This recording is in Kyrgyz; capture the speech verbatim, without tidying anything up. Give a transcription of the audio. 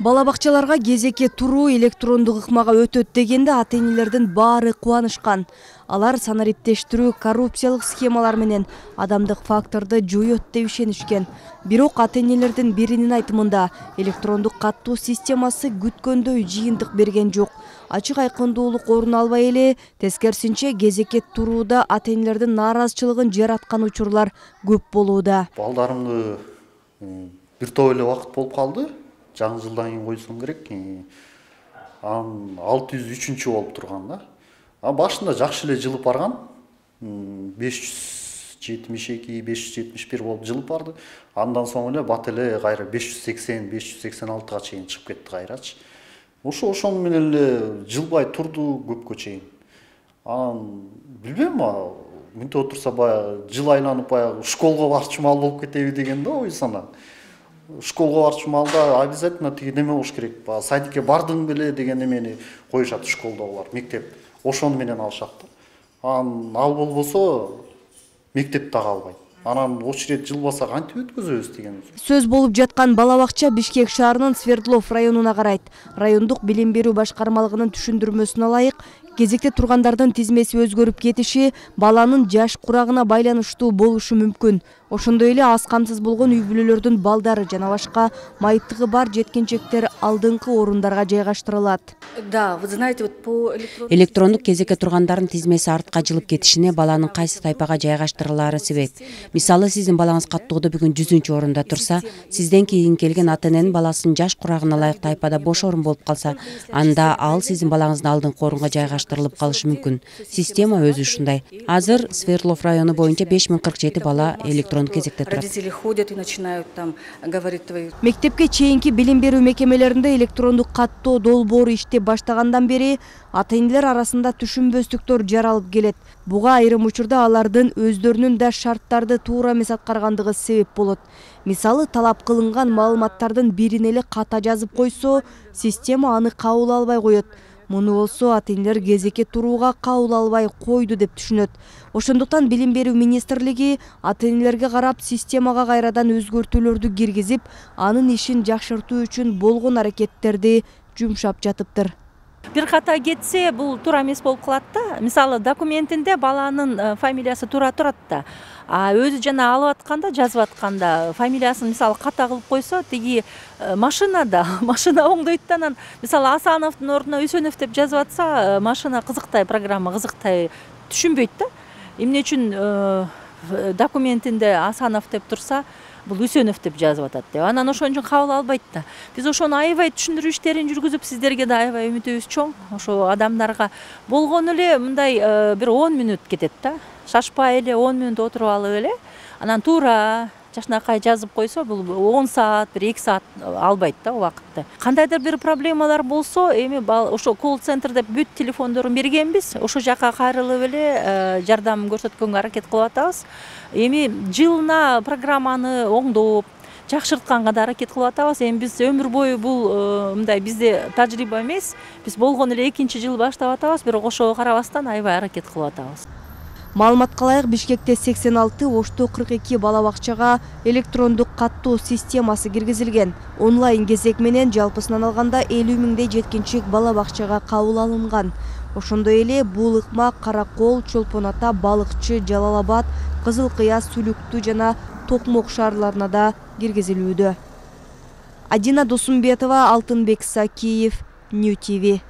Бала бакчаларга кезекке туруу электрондук ыкмага өтөт дегенде ата-энелердин баары кубанышкан. Алар санариптештирүү коррупциялык схемалар менен адамдык факторду жоёт деп ишенишкен. Бирок ата-энелердин биринин айтымында электрондук каттоо системасы күткөндөй жыйынтык берген жок. Ачык айкындуулук орун албай эле, тескерисинче кезекке турууда ата-энелердин нааразычылыгын жараткан учурлар көп болууда. Балдарымды бир топ эле убакыт болуп калды. Жаңы жылдан кийин койсоң керек. Анан алты жүз үчүнчү болуп турган да. А башында жакшы эле жылып барган. беш жүз жетимиш эки, беш жүз жетимиш бир болуп жылып барды. Андан соң эле бат эле кайра беш жүз сексен, беш жүз сексен алтыга чейин чыгып кетти кайрачы. Ошо ошону менен эле жылбай турду көпкө чейин. Анан билбейм, мынтип отурса баягы жыл айланып баягы школго барчу мал болуп кетеби деген да ой сана. Школго барчу малда обязательно тиги неме болуш керек. Садикке бардың беле деген эмени коюшат школдогулар, мектеп. Ошону менен алышат да. Анан ал болбосо мектеп да калбайт. Анан очередь жылбаса кантип өткөзөбүз деген. Сөз болуп жаткан бала бакча Бишкек шаарынын Свердлов районуна карайт. Райондук билим берүү башкармалыгынын түшүндүрмөсүнө ылайык, кезекте тургандардын тизмеси өзгөрүп кетиши баланын жаш курагына байланыштуу болушу мүмкүн. Ошондой эле аз камсыз болгон үй бүлөлөрдүн балдары жана башка майыптыгы бар жеткинчектер алдыңкы орундарга жайгаштырылат. Да, вы знаете, вот по электрондук кезекке тургандардын тизмеси артка жылып кетишине баланын кайсы тайпага жайгаштырылаары себеп. Мисалы, сиздин балаңыз каттоодо бүгүн жүзүнчү орунда турса, сизден кийин келген ата-эненин баласынын жаш курагына ылайык тайпада бош орун болуп калса, анда ал сиздин балаңыздын алдыңкы орунга жайгаштырылып калышы мүмкүн. Система өзү ушундай. Азыр Свердлов району боюнча беш миң кырк жети бала электрондук кезекте турат. Родители ходят и начинают там говорить твои. Мектепке чейинки билим берүү мекемелеринде электрондук каттоо долбоору иштеп баштагандан бери ата-энелер арасында түшүнбөстүктөр жаралып келет. Буга айрым учурда алардын өздөрүнүн да шарттарды туура эмес аткаргандыгы себеп болот. Мисалы, талап кылынган маалыматтардын бирин эле ката жазып койсо, система аны кабыл албай коет. Муну болсо ата-энелер кезекке турууга кабыл албай койду деп түшүнөт. Ошондуктан билим берүү министрлиги ата-энелерге карап системага кайрадан өзгөртүүлөрдү киргизип, анын ишин жакшыртуу үчүн болгон аракеттерди жумшап жатыптыр. Бир ката кетсе, бул туура эмес болуп калат да. Мисалы, документинде баланын фамилиясы туура турат да. А өзү жана алып атканда, жазып атканда фамилиясын мисалы ката кылып койсо, тиги машинада, машина оңдойт да, анан мисалы Асановдун ордуна Үсөнов деп жазып атса, машина кызыктай, программа кызыктай түшүнбөйт да. Эмне үчүн документинде Асанов деп турса, бул Үсөнов деп жазып атат деп. Анан ошон үчүн кабыл албайт да. Биз ошону аябай түшүндүрүү иштерин жүргүзүп, сиздерге да аябай үмүтүбүз чоң. Ошо адамдарга болгону эле мындай бир он мүнөт кетет да. Шашпай эле он мүнөт отуруп алып эле, анан туура жакшынакай жазып койсо, бул он саат, бир эки саат албайт да убакытты. Кандайдыр бир проблемалар болсо, эми ошо колл-центр деп бүт телефондорун бергенбиз. Ошо жака кайрылып эле жардам көрсөткөнгө аракет кылып атабыз. Эми жылына программаны оңдоп, жакшыртканга да аракет кылып атабыз. Эми биз өмүр бою бул мындай бизде тажрыйба эмес. Биз болгону эле экинчи жыл баштап атабыз, бирок ошого карабастан аябай аракет кылып атабыз. Маалыматка ылайык, Бишкекте сексен алты, Ошто кырк эки бала бакчага электрондук каттоо системасы киргизилген. Онлайн кезек менен жалпысынан алганда элүү миңдей жеткинчек бала бакчага кабыл алынган. Ошондой эле бул ыкма Каракол, Чолпон Ата, Балыкчы, Жалал Абад, Кызыл Кыя, Сүлүктүү жана Токмок шаарларына да киргизилүүдө. Адина Досумбетова, Алтынбек Сакиев, Нью ти ви.